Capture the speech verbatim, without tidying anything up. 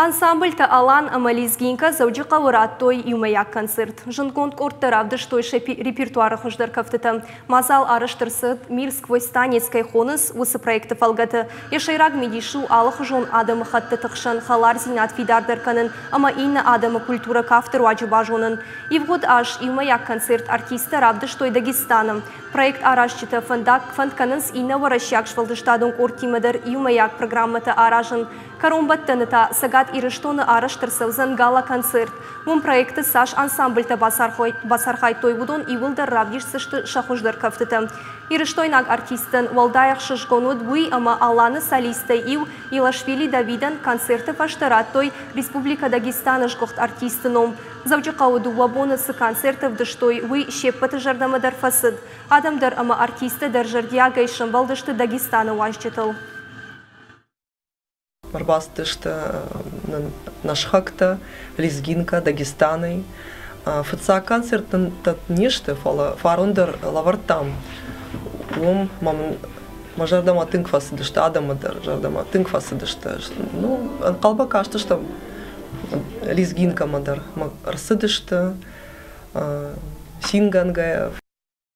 Ансамбльтӕ «Алан» ӕмӕ «Лезгинка» Дзӕуджыхъӕуы радтой иумӕйаг концерт. Зындгонд къордтӕ равдыстой сӕ репертуары хуыздӕр кӕфтытӕ. Мадзал арӕзт ӕрцыд, «Мир сквозь танец» кӕй хонынц, уыцы проекты фӕлгӕты. Йӕ сӕйраг мидис у алыхуызон адӕмыхӕттыты хсӕн хӕлардзинад фидардӕр кӕнын ӕмӕ иннӕ адӕмы культурӕ кафты руаджы базонын. Ивгъуыд аз иумӕйаг концерт артисттӕ равдыстой Дагестаны. Проект аразджытӕ фӕндаг фӕнд кӕнынц иннӕ уӕрӕсейаг сфӕлдыстадон къордтимӕ дӕр иумӕйаг программӕтӕ аразын. Кӕронбӕттӕны та Цӕгат Ирыстоны арӕзт ӕрцӕудзӕн гала-концерт. Уым проекты цас ансамбльтӕ бацархайдтой, уыдон иууылдӕр равдисдзысты сӕ хуыздӕр кӕфтытӕ. Ирыстойнаг артисттӕн уӕлдай ӕхсызгон уыд уый, ӕмӕ «Аланы» солисттӕй иу Илашвили Давидӕн концерты фӕстӕ радтой Республикӕ Дагестаны сгуыхт артисты ном. Дзӕуджыхъӕуы дыууӕ боны цы концерт ӕвдыстой, уый се ппӕты зӕрдӕмӕ дӕр фӕцыд. Адӕм дӕр ӕмӕ артисттӕ дӕр зӕрдиагӕй сӕмбӕлдысты Дагестаны уазджытыл. Ӕрбацыдысты нӕ сыхӕгтӕ, Лезгинка, Дагестанӕй. Фыццаг концерт нын не сты, фӕлӕ фарон дӕр лӕвӕрдтам. Уым мӕ зӕрдӕмӕ тынг фӕцыдысты, адӕмы дӕр зӕрдӕмӕ тынг фӕцыдысты. Ну, ӕнхъӕлмӕ кастыстӕм Лезгинкӕмӕ дӕр. Ӕрцыдысты цингӕнгӕйӕ.